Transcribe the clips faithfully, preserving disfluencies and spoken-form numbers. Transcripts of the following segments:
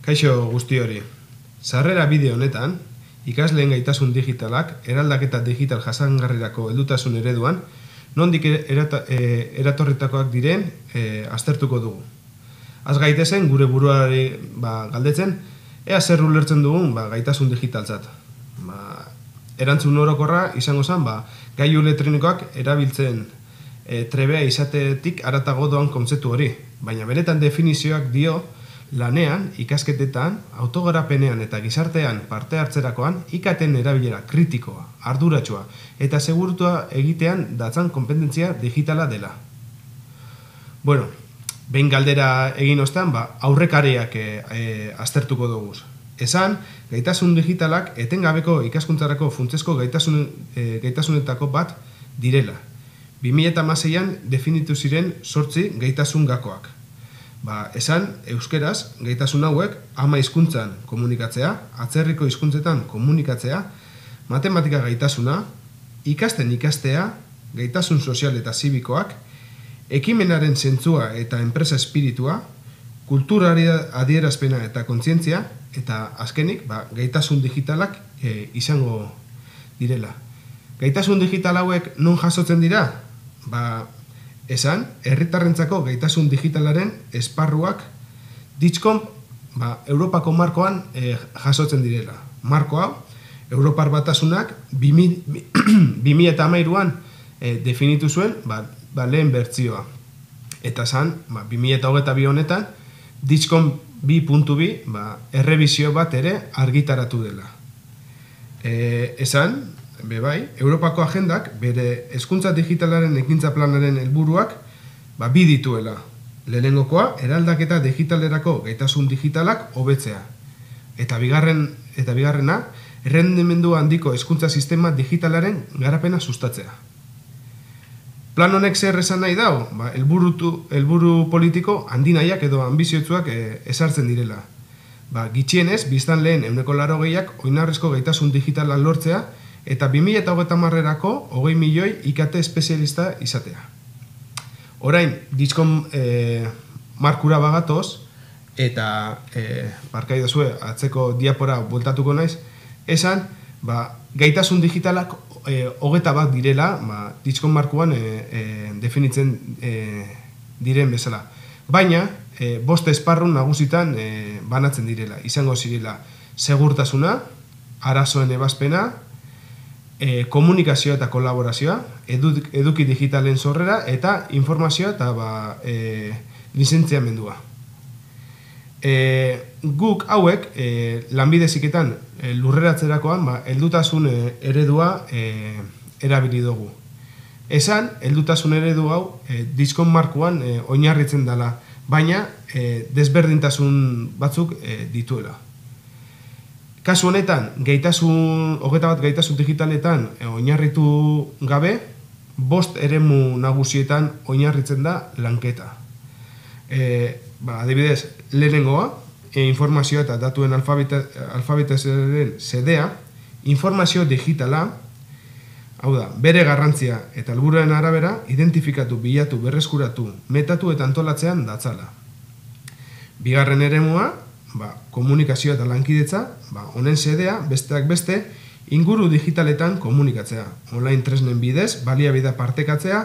Kaixo guzti hori. Sarrera bideo honetan, ikasleen gaitasun digitalak eraldaketa digital jasangarrirako heldutasun ereduan, nondik erata, e, eratorritakoak diren e, aztertuko dugu. Az gaitezen gure buruari ba, galdetzen, ea zer ulertzen dugun ba, gaitasun digitaltzat. Ba, erantzun orokorra izango zen, ba, gailu elektronikoak erabiltzen e, trebea izatetik aratago doan kontzeptu hori. Baina benetan definizioak dio, lanean, ikasketetan, autogarapenean eta gizartean parte hartzerakoan ikaten erabilera kritikoa, arduratsua eta segurutua egitean datzan konpetentzia digitala dela. Bueno, behin galdera egin ostean, ba, aurrekariak e, e, aztertuko dugu. Esan, gaitasun digitalak etengabeko ikaskuntzarako funtsezko gaitasun, e, gaitasunetako bat direla. bi mila hamaseian definitu ziren zortzi gaitasun gakoak. Ba, esan, euskeraz, gaitasun hauek ama hizkuntzan komunikatzea, atzerriko hizkuntzetan komunikatzea, matematika gaitasuna, ikasten ikastea, gaitasun sozial eta zibikoak, ekimenaren zentzua eta enpresa espiritua, kulturari adierazpena eta kontzientzia, eta azkenik, ba, gaitasun digitalak e, izango direla. Gaitasun digital hauek non jasotzen dira? Ba, esan, herritarrentzako gaitasun digitalaren esparruak Ditcom ba, Europako markoan e, jasotzen direla. Marko hau, Europar Batasunak bi mila hamairuan e, definitu zuen ba, ba, lehen bertsioa. Eta esan, ba, bi mila hogeita bi honetan, Ditcom bi puntu bi ba, errebizio bat ere argitaratu dela. E, esan, Be bai, Europako agendak bere hezkuntza digitalaren ekintza planaren helburuak ba, bi dituela. Lehenengokoa, eraldaketa digitalerako gaitasun digitalak hobetzea. Eta bigarren eta bigarrena, errendimendu handiko hezkuntza sistema digitalaren garapena sustatzea. Plan honek zer esan nahi dau? Ba, helburu helburu politiko handinaiak edo anbiziotsuak e, ezartzen direla. Ba, gitxienez, biztanleen ehuneko laurogeiak oinarrizko gaitasun digitala lortzea, eta bi mila hogeita hamarerako hogei milioi I K T espezialista izatea. Orain, Ditcom e, markura bagatoz, eta e, barkaidazue atzeko diapora bueltatuko naiz, esan, ba, gaitasun digitalak e, hogeta bat direla, ba, Ditcom markuan e, e, definitzen e, diren bezala. Baina, e, bost esparrun nagusitan e, banatzen direla. Izango zirela segurtasuna, arazoen ebazpena, E, komunikazioa eta kolaborazioa, edu, eduki digitalen sorrera eta informazioa eta ba, e, lizentziamendua. E, guk hauek e, lanbide heziketan e, lurreratzerakoan ba, heldutasun e, eredua e, erabili dugu. Esan, heldutasun eredu hau e, Ditcom markuan e, oinarritzen dela, baina e, desberdintasun batzuk e, dituela. Kasu honetan, gaitasun, hogeita bat gaitasun digitaletan e, oinarritu gabe, bost eremu nagusietan oinarritzen da lanketa. E, ba, adibidez, lehenengoa, e, informazioa eta datuen alfabetazioaren sedea, informazio digitala, hau da, bere garrantzia eta helburuaren arabera, identifikatu, bilatu, berreskuratu, metatu eta antolatzean datzala. Bigarren eremua, ba, komunikazioa eta lankidetza, ba, honen sedea, besteak beste, inguru digitaletan komunikatzea. Online tresnen bidez, baliabidea partekatzea,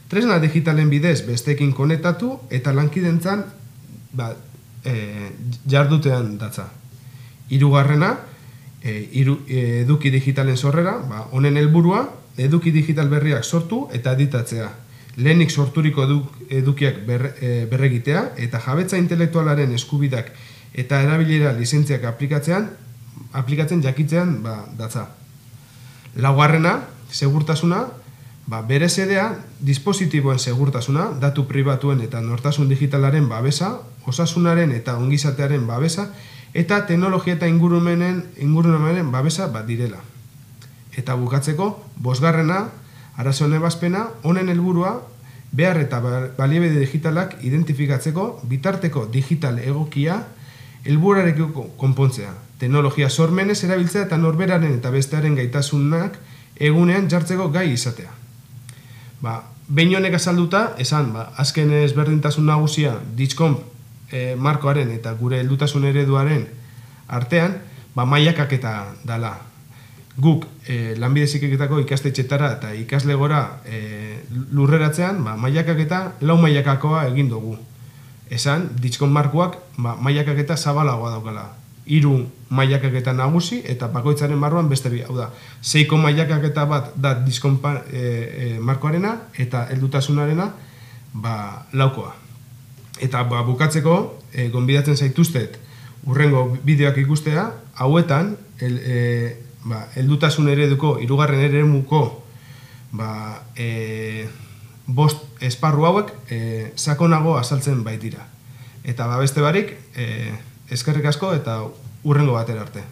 tresna digitalen bidez besteekin konektatu eta lankidentzan ba, e, jardutean datza. Hirugarrena, e, iru, e, eduki digitalen sorrera, ba, honen helburua, eduki digital berriak sortu eta editatzea. Lehenik sorturiko eduk, edukiak ber, e, berregitea eta jabetza intelektualaren eskubidak eta erabilera lizentziak aplikatzean, aplikatzen jakitzean ba, datza. Laugarrena, segurtasuna, ba, bere sedea, dispositiboen segurtasuna, datu pribatuen eta nortasun digitalaren babesa, osasunaren eta ongizatearen babesa, eta teknologia eta ingurumenen, ingurumenen babesa bat direla. Eta bukatzeko, bosgarrena, arazoen ebazpena, honen helburua, behar eta baliabide digitalak identifikatzeko, bitarteko digital egokia, helburarekiko konpontzea, teknologia sormenez erabiltzea eta norberaren eta bestearen gaitasunak egunean jartzeko gai izatea. Ba, behin honek azalduta, esan, ba, azken ezberdintasun nagusia Ditcom e, markoaren eta gure heldutasun ereduaren artean, ba, mailakaketa dala. Guk e, lanbide heziketako ikastetxetara eta ikaslegora e, lurreratzean, ba, mailakaketa lau mailakakoa egin dugu. Esan, ditxkon markoak ba, mailakaketa zabalagoa daukala. Hiru mailakaketa nagusi eta bakoitzaren barruan beste bi. Hau da, seiko mailakaketa bat da diskon e, e, markoarena eta heldutasunarena ba, laukoa. Eta ba, bukatzeko, e, gonbidatzen zaituztet urrengo bideoak ikustea, hauetan, el, e, ba, heldutasun ereduko, hirugarren eremuko ba, e, bost esparru hauek e, sakonago azaltzen baitira. Eta ba, beste barik, e, eskerrik asko eta urrengo batera arte.